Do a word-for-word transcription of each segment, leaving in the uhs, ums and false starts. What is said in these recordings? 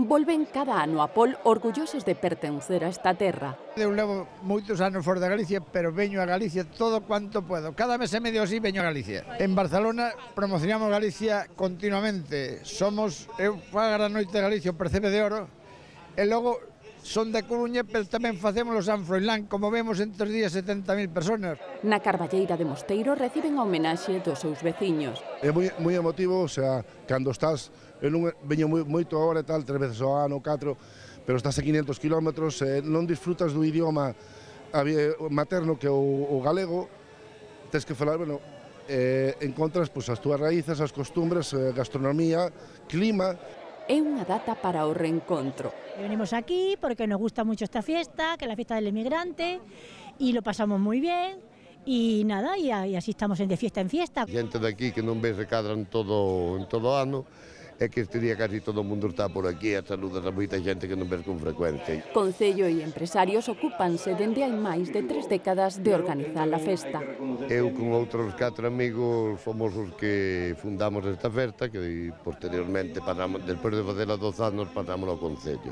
volven cada ano a Pol orgullosos de pertencer a esta terra. Eu levo moitos anos fora de Galicia, pero veño a Galicia todo cuanto puedo. Cada mes e medio así veño a Galicia. En Barcelona promocionamos Galicia continuamente. Somos, eu fago a noite de Galicia, o Percebe de Oro, e logo son da Coruña, pero tamén facemos o San Froilán, como vemos entre os días setenta mil personas. Na Carballeira de Mosteiro reciben a homenaxe dos seus veciños. É moi, moi emotivo, o sea, cando estás, eu non veño moi, moito agora e tal, tres veces ao ano, catro, pero estás a quinhentos kilómetros, eh, non disfrutas do idioma materno que é o, o galego, tens que falar, bueno, eh, encontras pues, as túas raíces, as costumbres, eh, gastronomía, clima. É unha data para o reencontro. Venimos aquí porque nos gusta mucho esta fiesta, que es la fiesta del emigrante, y lo pasamos muy bien, y nada, y, y así estamos de fiesta en fiesta. Xente daqui que non ves se cadran todo, en todo ano, é que este día casi todo o mundo está por aquí a saludas a moita xente que non ves con frecuencia. Concello e empresarios ocúpanse dende hai máis de tres décadas de organizar a festa. Eu con outros catro amigos fomos os que fundamos esta festa, que posteriormente, pasamos, despois de facela doce anos, pasamos ao Concello.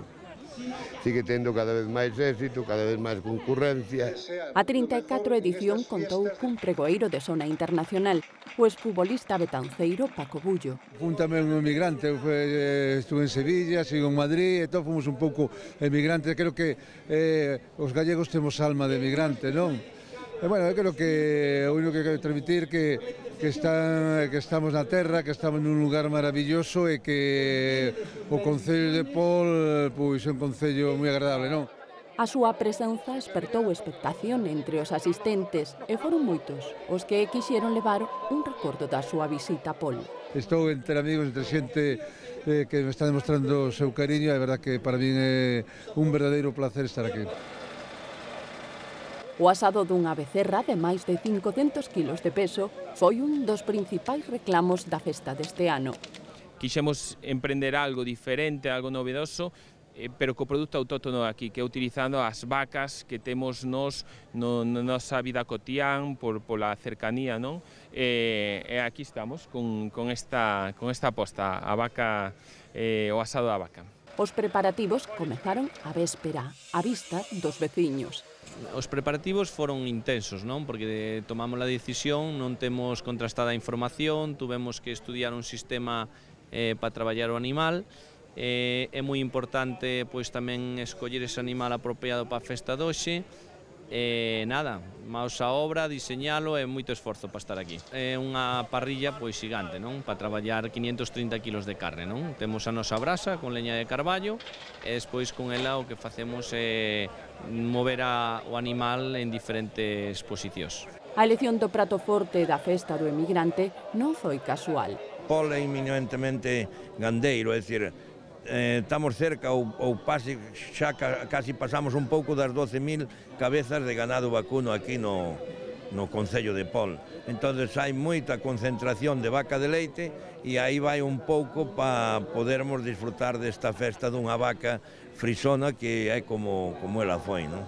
Sigue tendo cada vez máis éxito, cada vez máis concurrencia. A trinta e catro edición contou cun pregoeiro de zona internacional, o exfutbolista betanceiro Paco Bullo. Fun tamén un emigrante, eu fue, estuve en Sevilla, sigo en Madrid, e todos fomos un pouco emigrantes. Creo que eh, os gallegos temos alma de emigrante, non? E, bueno, eu creo que o único que quero transmitir que, que, está, que estamos na terra, que estamos nun lugar maravilloso e que o Concello de Pol pois, é un concello moi agradable, non? A súa presenza espertou expectación entre os asistentes e foron moitos os que quixeron levar un recordo da súa visita a Pol. Estou entre amigos, entre xente eh, que me está demostrando o seu cariño, e é verdad que para min é un verdadeiro placer estar aquí. O asado dunha becerra de máis de cincocentos kilos de peso foi un dos principais reclamos da festa deste ano. Quixemos emprender algo diferente, algo novedoso, eh, pero co produto autóctono aquí, que é utilizando as vacas que temos nos no, na nosa vida cotián por pola cercanía, non? E, e aquí estamos con, con, esta, con esta aposta, a vaca, eh, o asado da vaca. Os preparativos comezaron a véspera, á vista dos veciños. Os preparativos foron intensos, non? Porque tomamos a decisión, non temos contrastada a información, tuvemos que estudiar un sistema eh, para traballar o animal. Eh, é moi importante pois tamén escoller ese animal apropiado para a festa de hoxe. E nada, maos a obra, diseñalo e moito esforzo para estar aquí. É unha parrilla pois xigante, non? Para traballar quinhentos trinta kilos de carne, non? Temos a nosa brasa con leña de carballo e despois con ela o que facemos é mover a, o animal en diferentes posicións. A elección do prato forte da festa do emigrante non foi casual. Pol é eminentemente gandeiro, é dicir, Eh, estamos cerca ou, ou pase, xa ca, casi pasamos un pouco das doce mil cabezas de ganado vacuno aquí no, no Concello de Pol. Entonces hai moita concentración de vaca de leite e aí vai un pouco para podermos disfrutar desta festa dunha vaca frisona que é como, como ela foi, non?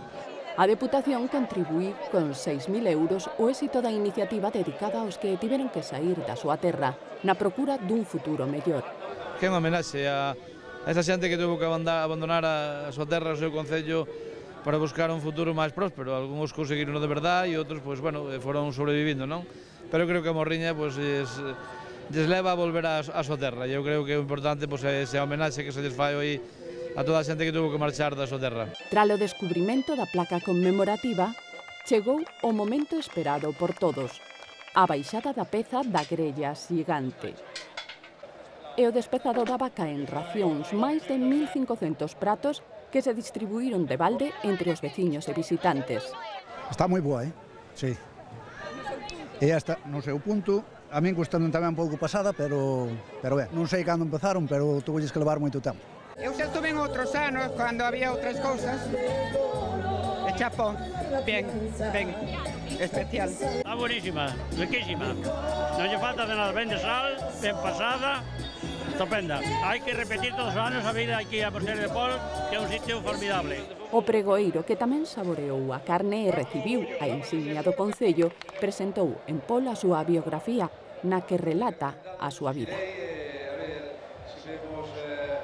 A Deputación contribuí con seis mil euros o éxito da iniciativa dedicada aos que tiveron que sair da súa terra na procura dun futuro mellor. Que é unha homenaxe a esa xente que tuvo que abandonar a súa terra, o seu concello, para buscar un futuro máis próspero. Algúns conseguiron de verdade e outros, pois, bueno, foron sobrevivindo, non? Pero creo que a Morriña, pois, lles, lles leva a volver a, a súa terra. E eu creo que é importante, pois, ese homenaxe que se lles fai hoy a toda a xente que tuvo que marchar da súa terra. Tras o descubrimento da placa conmemorativa, chegou o momento esperado por todos, a baixada da peza da grella xigante. E o despezado da vaca en racións, máis de mil cincocentos pratos que se distribuíron de balde entre os veciños e visitantes. Está moi boa, eh? Sí. E hasta no seu punto, a min custando tamén un pouco pasada, pero, pero ben, non sei cando empezaron, pero tuvelles que levar moito tempo. Eu xa estuve en outros anos, cando había outras cousas, e chapó, ben, ben, especial. Está buenísima, riquísima, non lle falta de nada, ben de sal, ben pasada, estupenda. Hai que repetir todos os anos a vida aquí a Mosteiro de Pol, que é un sitio formidable. O pregoeiro, que tamén saboreou a carne e recibiu a insignia do Concello, presentou en Pol a súa biografía, na que relata a súa vida.